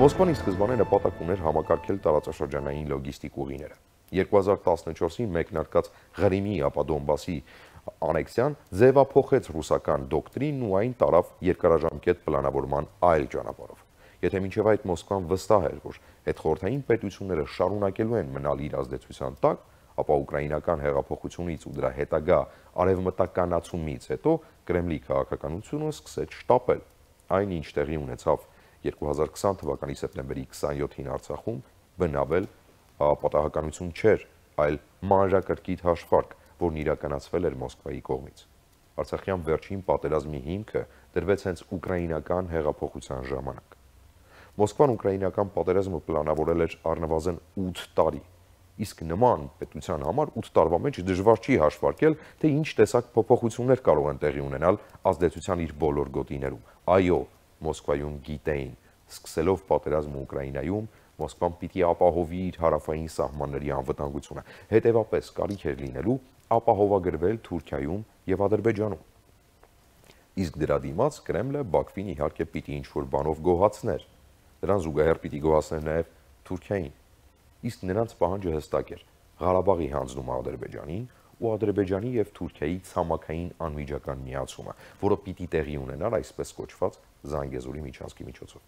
Մոսկվան ի սկզբանե նպատակ ուներ համակարգել տարածաշրջանային լոգիստիկ ուղիները։ 2014-ին մեկնարկած Ղրիմի ապա Դոնբասի անեքսիան ձևափոխեց ռուսական դոկտրինն ու այն տարավ երկարաժամկետ պլանավորման այլ ճանապարհով։ Եթե մինչև այդ Մոսկվան վստահ էր, որ հետխորհրդային պետությունները շարունակելու են մնալ իր ազդեցության տակ, ապա ուկրաինական հեղափոխությունից ու դրա հետագա արևմտականացումից հետո Կրեմլի քաղաքականությունը սկսեց շտապել։ Այն, ինչ տեղի ունեցավ 2020 թվականի սեպտեմբերի 27-ին Արցախում, բնավել պատահականություն չէր, այլ մանրակրկիտ հաշվարկ, որն իրականացվել էր Մոսկվայի կողմից։ Արցախյան վերջին պատերազմի հիմքը դրվեց հենց ուկրաինական հեղափոխության ժամանակ։ Մոսկվան ուկրաինական պատերազմը պլանավորել էր առնվազն 8 տարի, իսկ նման պետության համար 8 տարվա մեջ դժվար չի հաշվարկել, թե ինչ տեսակ փոփոխություններ կարող են տեղի ունենալ ազդեցության իր բոլոր գոտիներում։ Այո, Մոսկվայում գիտեին, սկսելով պատերազմը Ուկրաինայում, Մոսկվան պիտի ապահովի իր հարավային սահմանների անվտանգությունը, հետևապես կարիք էր լինելու ապահովագրվել Թուրքիայում եւ Ադրբեջանում։ Իսկ դրա դիմաց Կրեմլը Բաքվին իհարկե պիտի ինչ-որ բանով գոհացներ, դրան զուգահեռ պիտի գոհացներ նաեւ Թուրքիային, իսկ նրանց պահանջը հստակ էր՝ Ղարաբաղի հանձնումը Ադրբեջանին ու Ադրբեջանի եւ Թուրքիայի ցամաքային անմիջական միացումը, որը պիտի տեղի ունենար այսպես կոչված Զանգեզուրի միջանցքի միջոցով։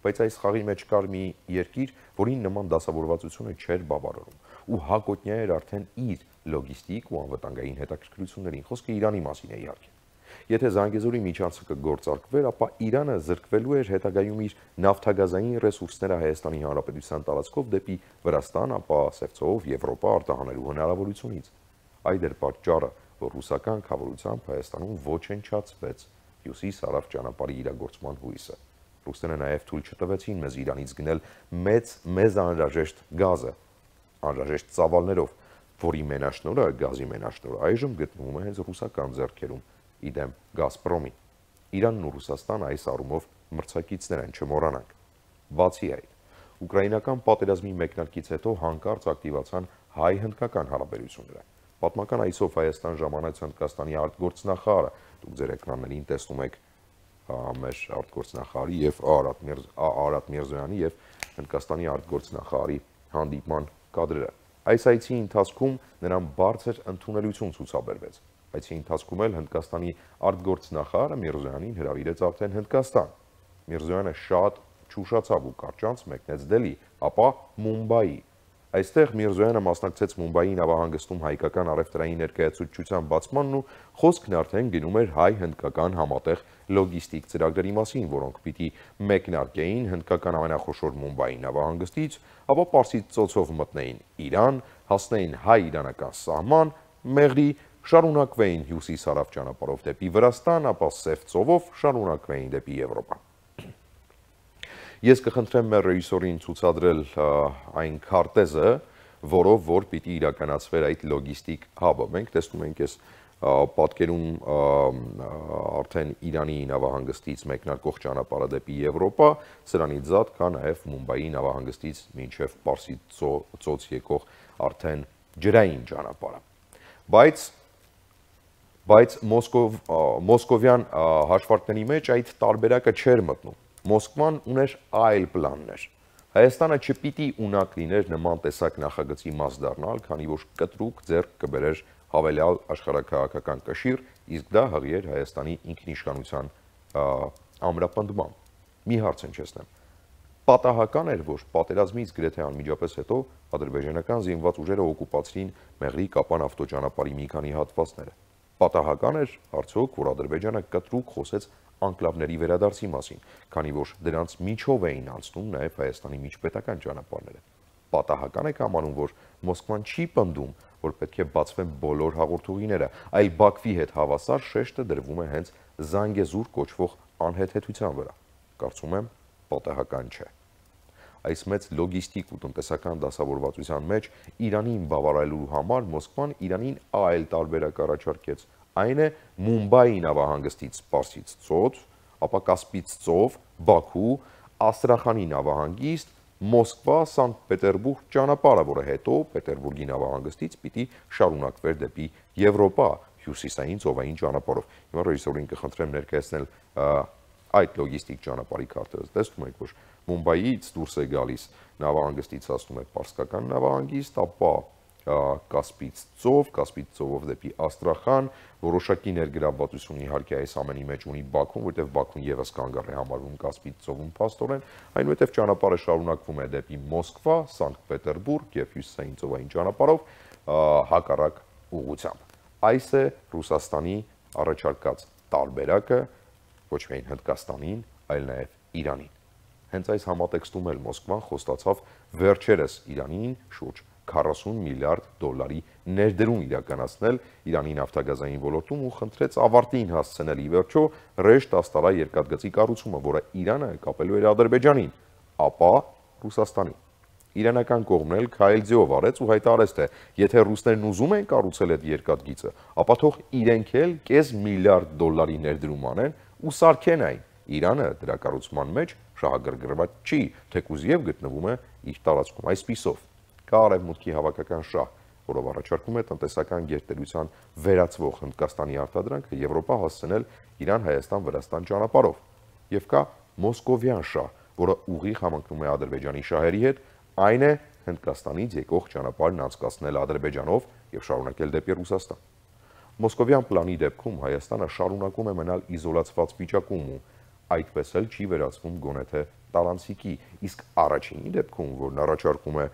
Բայց այս խաղի մեջ կար մի երկիր, որին նման դասավորվածությունը չէր բավարարում ու հակոտնյա էր արդեն իր լոգիստիկ ու անվտանգային հետաքրքրություններին, խոսքը Իրանի մասին է իհարկե։ Եթե Զանգեզուրի միջանցքը գործարկվեր, ապա Իրանը զրկվելու էր հետագայում իր նավթագազային ռեսուրսները Հայաստանի Հանրապետության տարածքով դեպի Վրաստան, ապա Սևծով Եվրոպա արտահանելու հնարավորությունից։ Այդ էր պատճառը, որ ռուսական կառավարությամբ Հայաստանում ոչնչացվեց հյուսիս-հարավ ճանապարհի իրագործման հույսը։ Ռուսները նաև թույլ չտվեցին մեզ Իրանից գնել մեզ անհրաժեշտ գազը, անհրաժեշտ ծավալներով, որի մենաշնորհը, գազի մենաշնորհը այժմ գտնվում է հենց ռուսական ձեռքերում, իդեմ Գազպրոմի։ Իրանն ու Ռուսաստանը այս առումով մրցակիցներ են, չմոռանանք։ Բացի այդ, ուկրաինական պատերազմի մեկնարկից հետո հանկարծ ակտիվացան հայ-հնդկական հարաբերությունները։ Պատմական այսով Հայաստան ժամանեց Հնդկաստանի արտգործնախարարը, դուք ձեր էկրաններին տեսնում եք մեր արտգործնախարարի եւ Արարատ Միրզոյանի եւ Հնդկաստանի արտգործնախարարի հանդիպման կադրերը։ Այս այցի ընթացքում նրան բարձր ընդունելություն ցուցաբերվեց։ Այցի ընթացքում էլ Հնդկաստանի արտգործնախարարը Միրզոյանին հրավիրեց արդեն Հնդկաստան։ Միրզոյանը շատ չուշացավ ու կարճանց մեկնեց Դելհի, ապա Մումբայի։ Այստեղ Միրզոյանը մասնակցեց Մումբայի նավահանգստում հայկական առևտրային ներկայացուցչության բացմանն ու խոսքն արդեն գնում էր հայ-հնդկական համատեղ լոգիստիկ ծրագրերի մասին, որոնք պիտի մեկնարկեին հնդկական ամենախոշոր Մումբայի նավահանգստից, ապա Պարսից ծոցով մտնեին Իրան, հասնեին հայ-իրանական սահման, Մեղրի, շարունակվեին հյուսիս-հարավ ճանապարհով դեպի Վրաստան, ապա Սև ծովով շարունակվեին դեպի Եվրոպա։ Ես կխնդրեմ մեր ռեժիսորին ցուցադրել այն քարտեզը, որով որ պիտի իրականացվեր այդ լոգիստիկ հաբը։ Մենք տեսնում ենք այս պատկերում արդեն Իրանի նավահանգստից մեկնարկող ճանապարհը դեպի Եվրոպա, սրանից զատ կա նաև Մումբայի նավահանգստից մինչև Պարսից ծոց եկող արդեն ջրային ճանապարհը։ Բայց մոսկովյան հաշվարկների մեջ այդ տարբերակը չէր մտնում։ Մոսկվան ուներ այլ պլաններ։ Հայաստանը չպիտի ունակ լիներ նման տեսակ նախագծի մաս դառնալ, քանի որ կտրուկ ձեռք կբերեր հավելյալ աշխարհաքաղաքական կշիռ, իսկ դա հղի էր Հայաստանի ինքնիշխանության ամրապնդման։ Մի հարց հնչեցնեմ։ Պատահական էր, որ պատերազմից գրեթե անմիջապես հետո ադրբեջանական զինված ուժերը օկուպացրին Մեղրի Կապան ավտոճանապարհի մի քանի հատվածները։ Պատահական էր արդյոք, որ Ադրբեջանը կտրուկ խոսեց անկլավների վերադարձի մասին, քանի որ դրանց միջով էին անցնում նաև Հայաստանի միջպետական ճանապարհները։ Պատահական է կամանում, որ Մոսկվան չի պնդում, որ պետք է բացվեն բոլոր հաղորդուղիները, այլ Բաքվի հետ հավասար շեշտը դրվում է հենց Զանգեզուր կոչվող անհեթեթության վրա։ Կարծում եմ, պատահական չէ։ Այս մեծ լոգիստիկ ու տնտեսական դասավորվածության մեջ Իրանին բավարարելու համար Մոսկվան Իրանին այլ տարբերակ առաջարկեց։ Այն է Մումբայի նավահանգստից Պարսից ծոց, ապա Կասպից ծով, Բաքու, Աստրախանի նավահանգիստ, Մոսկվա, Սանկտ Պետերբուրգ ճանապարհը, որը հետո Պետերբուրգի նավահանգստից պիտի շարունակվեր դեպի Եվրոպա հյուսիսային ծովային ճանապարհով։ Հիմա ռեժիսորին կխնդրեմ ներկայացնել այդ լոգիստիկ ճանապարհի քարտեզը տեսնում եք, որ Մումբայից դուրս է գալիս նավահանգստից հասնում է Պարսկական նավահանգիստ, ապա Կասպից ծովով դեպի Աստրախան, որոշակի ներգրավվածություն իհարկե այս ամենի մեջ ունի Բաքուն, որտեղ Բաքուն եւս կանգառ է համարվում Կասպից ծովում փաստորեն, այնուհետև ճանապարհը շարունակվում է դեպի Մոսկվա, Սանկտ Պետերբուրգ եւ հյուսիսային ծովային ճանապարհով հակառակ ուղղությամբ։ Այս է Ռուսաստանի առաջարկած տարբերակը ոչ միայն Հնդկաստանին, այլ նաեւ Իրանին։ Հենց այս համատեքստում էլ Մոսկվան խոստացավ վերջերս Իրանին շուրջ 40 միլիարդ դոլարի ներդրում իրականացնել Իրանի նավթագազային ոլորտում ու խնդրեց ավարտին հասցնել ի վերջո ռեժ 10 տարա երկաթգծի կառուցումը, որը Իրանը կապելու էր Ադրբեջանին, ապա Ռուսաստանին։ Իրանական կողմն էլ քայլ ձեով արեց ու հայտարարեց, թե եթե ռուսներն ուզում են կառուցել այդ երկաթգիծը, ապա թող իրենք էլ կես միլիարդ դոլարի ներդրում անեն ու սարքեն այն։ Իրանը դրա կառուցման մեջ շահագրգռված չի, թեկուզ եւ գտնվում է իր տարածքում։ Այսպիսով կա Արևմուտքի հավաքական շահ, որով առաջարկում է տնտեսական գերտերության վերածվող Հնդկաստանի արտադրանքը Եվրոպա հասցնել Իրան-Հայաստան-Վրաստան ճանապարհով, եւ կա մոսկովյան շահ, որը ուղիղ համընկնում է Ադրբեջանի շահերի հետ, այն է Հնդկաստանից եկող ճանապարհն անցկացնել Ադրբեջանով եւ շարունակել դեպի Ռուսաստան։ Մոսկովյան պլանի դեպքում Հայաստանը շարունակում է մնալ իզոլացված վիճակում ու այդպես էլ չի վերածվում գոնե թե տարանցիկի, իսկ առաջինի դեպքում, որն առաջարկում է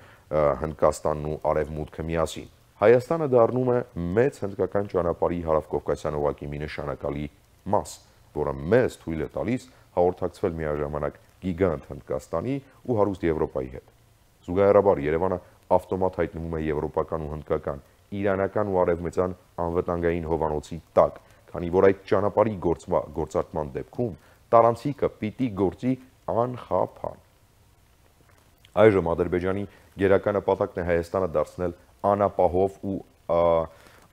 Հնդկաստանն ու Արևմուտքը միասին, Հայաստանը դառնում է մեծ հնդկական ճանապարհի հարավկովկասյան օղակի մի նշանակալի մաս, որը մեզ թույլ է տալիս հաղորդակցվել միաժամանակ գիգանտ Հնդկաստանի ու հարուստ Եվրոպայի հետ։ Զուգահեռաբար Երևանը ավտոմատ հայտնվում է եվրոպական ու հնդկական, իրանական ու արևմտյան անվտանգային հովանոցի տակ, քանի որ այդ ճանապարհի գործարկման դեպքում տարանցիկը պիտի գործի անխափան։ Այժմ Ադրբեջանի գերական նպատակն է Հայաստանը դարձնել անապահով ու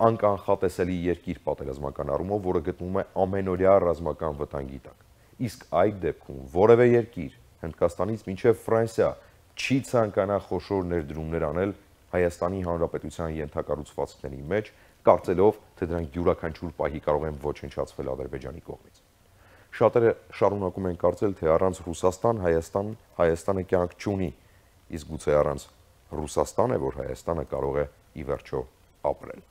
անկանխատեսելի երկիր պատերազմական առումով, որը գտնվում է ամենօրյա ռազմական վտանգի տակ։ Իսկ այդ դեպքում որևէ երկիր Հնդկաստանից մինչև Ֆրանսիա չի ցանկանա խոշոր ներդրումներ անել Հայաստանի Հանրապետության ենթակառուցվածքների մեջ, կարծելով, թե դրանք յուրաքանչյուր պահի կարող են ոչնչացվել Ադրբեջանի կողմից։ Շատերը շարունակում են կարծել, թե առանց Ռուսաստան Հայաստանը կյանք չունի, իսկ գուցե առանց Ռուսաստան է, որ Հայաստանը կարող է ի վերջո ապրել։